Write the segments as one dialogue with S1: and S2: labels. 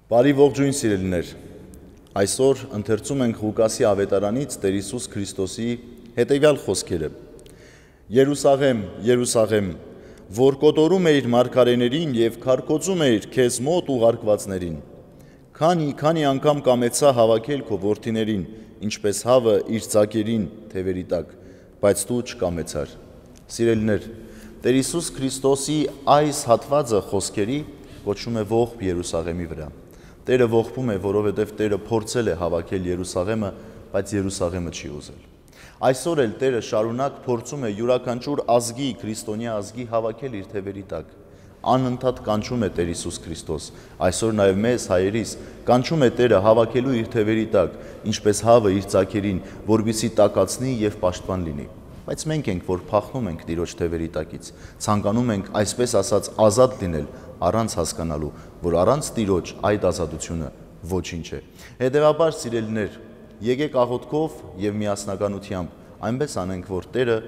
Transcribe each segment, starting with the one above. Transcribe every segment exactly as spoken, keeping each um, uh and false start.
S1: Բարի ողջույն սիրելիներ, այսօր ընթերցում ենք Ղուկասի ավետարանից Տեր Հիսուս Քրիստոսի հետևյալ խոսքերը. Երուսաղեմ, Երուսաղեմ, որ կոտորում էիր մարգարեներին և քարկոծում էիր քեզ մոտ ուղարկվածներին, քանի, քանի անգամ կամեցա հավաքել քո որդիներին, ինչպես հավը իր ձագերին թևերի տակ, բայց դու չկամեցար։ Սիրելիներ, Տեր Հիսուս Քրիստոսի այս հատվածը խոսքերի կոչվում է ողբ Երուսաղեմի վրա։ Տերը ողբում է, որովհետև Տերը փորձել է հավաքել Երուսաղեմը, բայց Երուսաղեմը չի ուզել։ Այսօր էլ Տերը շարունակ փորձում է յուրաքանչյուր ազգի, քրիստոնյա ազգի հավաքել իր թևերի տակ։ Անընդհատ կանչում է Տեր Հիսուս Քրիստոս, այսօր նաև մեզ հայերիս կանչում է Տերը հավաքելու իր թևերի տակ, ինչպես հավը իր ձագերին, որպեսզի տակացնի և պաշտպան լինի։ Բայց մենք ենք, որ փախնում ենք Տիրոջ թևերի տակից, ցանկանում ենք այսպես ասած ազատ լինել, առանց հասկանալու, որ առանց Տիրոջ այդ ազատությունը ոչինչ է։ Հետևաբար, սիրելիներ, եկեք աղոթքով և միասնականությամբ այնպես անենք, որ Տերը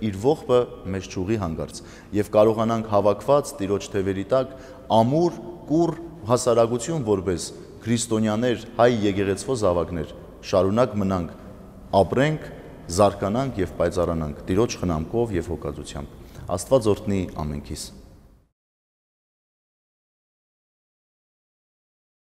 S1: իր ողբը մեզ չուղի հանգարց և կարողանանք հավաքված Տիրոջ թևերի տակ ամուր, կուռ հասարակություն որպես քրիստոնյաներ, հայ եկեղեցվո զավակներ շարունակ մնանք, ապրենք, զարգանանք և պայծառանանք Տիրոջ խնամքով և հոգածությամբ։ Աստված օրհնի ամենքիս։